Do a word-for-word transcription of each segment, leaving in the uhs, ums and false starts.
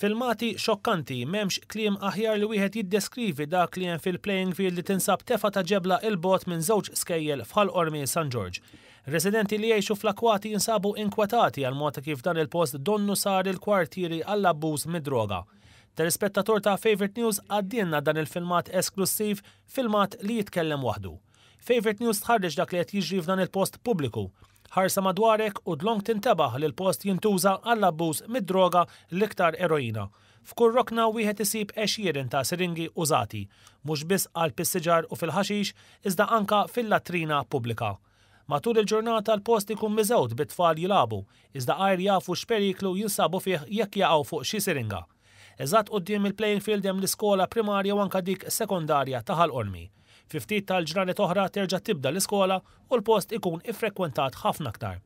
Filmati xokkanti, m'hemmx kliem aħjar li wieħed jiddeskrivi dak li hemm fil-playing field li tinsab tefa ta' ġebla 'l bogħod minn żewġ skejjel f'Ħal Qormi San Ġorġ. Residenti li jgħixu fl-akwati jinsabu inkwetati għal mod kif dan il-post donnu sar il-kwartieri għall-abbuż mid-droga. Telespettatur ta' Favorite News għaddielna dan il-filmat esklusiv, filmat li jitkellem waħdu. Favorite News tħarreġ dak li qed jiġri f'dan il-post pubbliku. Ħarsa madwarek u dlonk tintebaħ li l-post jintuża għall-abbuż mid-droga, l-iktar eroina. F'kull rokna wieħed isib għexieren ta' siringi użati, mhux biss għal siġar u fil-ħaxix, iżda anka fil-latrina pubblika. Matul il-ġurnata l-post ikun miżgħud bit-tfal jilagħbu, iżda għajr jafu x'periklu jinsabu fih jekk jaqgħu fuq xi siringa. Eżatt quddiem il-playing field hemm l-iskola primarja u anka dik sekondarja ta' Ħal Qormi. Fi ftit tal-ġranet oħra terġa' tibda l-iskola u l-post ikun iffrekwentat ħafna aktar.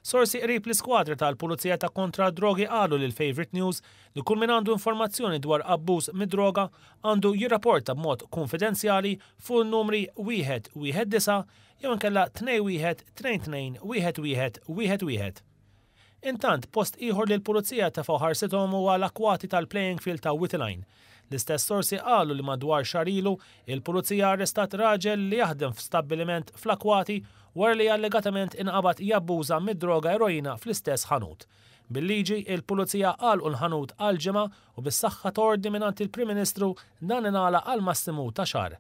Sorsi qrib l-iskwadra tal-Pulizija ta' kontra drogi qalu lil Favorite News li kull min għandu informazzjoni dwar abbuż mid-droga għandu jirrapporta b'mod konfidenzjali fuq numri wieħed wieħed disa' jew inkella tnejn wieħed tnejn tnejn wieħed wieħed wieħed wieħed. Intant, post ieħor li l-Pulizija tefgħu ħarsithom huwa l-akwati tal-playing field ta' Wied il-Għajn. L-istess sorsi qalu li madwar xahar ilu il-Pulizija arrestat raġel li jaħdem f'stabbiliment fl-akwati wara li allegatament inqabad jabbuża mid-droga eroina fl-istess ħanut. Bil-liġi, il-Pulizija għalqu l-ħanut għal ġimgħa u bis-saħħa t'ordni mingħand il-Prim Ministru dan ingħalaq għal massimu ta' xahar.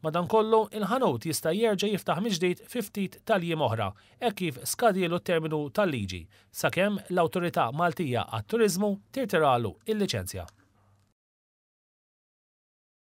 Madankollu, il-ħanut jista' jerġa' jiftaħ mill-ġdid fi ftit tal-jiem oħra, hekk kif skadielu t-terminu tal-liġi, sakemm l-Awtorità Maltija għat-Turiżmu tirtiralu il-liċenzja.